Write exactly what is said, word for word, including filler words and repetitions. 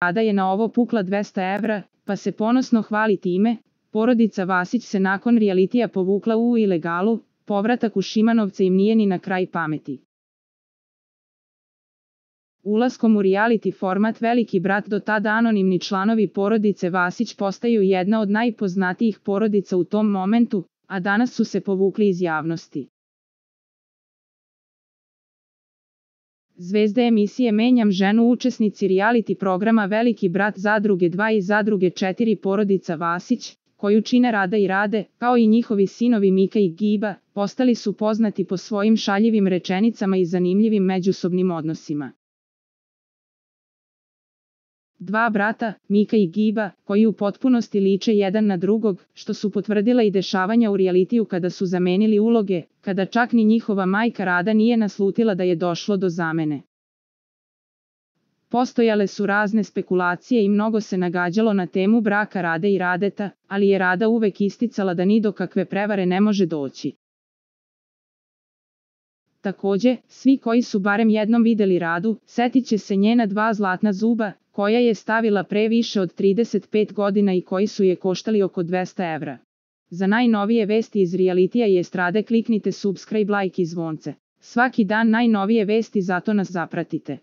Rada je na ovo pukla dvesta evra, pa se ponosno hvali time. Porodica Vasić se nakon realitija povukla u ilegalu, povratak u Šimanovce im nije ni na kraj pameti. Ulaskom u reality format Veliki brat do tada anonimni članovi porodice Vasić postaju jedna od najpoznatijih porodica u tom momentu, a danas su se povukli iz javnosti. Zvezde emisije Menjam ženu, učesnici reality programa Veliki brat Zadruge dva i Zadruge četiri porodica Vasić, koju čine Rada i Rade, kao i njihovi sinovi Mika i Giba, postali su poznati po svojim šaljivim rečenicama i zanimljivim međusobnim odnosima. Dva brata, Mika i Giba, koji u potpunosti liče jedan na drugog, što su potvrdila i dešavanja u realitiju kada su zamenili uloge, kada čak ni njihova majka Rada nije naslutila da je došlo do zamene. Postojale su razne spekulacije i mnogo se nagađalo na temu braka Rade i Radeta, ali je Rada uvek isticala da ni do kakve prevare ne može doći. Takođe, svi koji su barem jednom videli Radu, setit će se njena dva zlatna zuba, koja je stavila pre više od trideset pet godina i koji su je koštali oko dvesta evra. Za najnovije vesti iz realitija i estrade kliknite subscribe, like i zvonce. Svaki dan najnovije vesti, zato nas zapratite.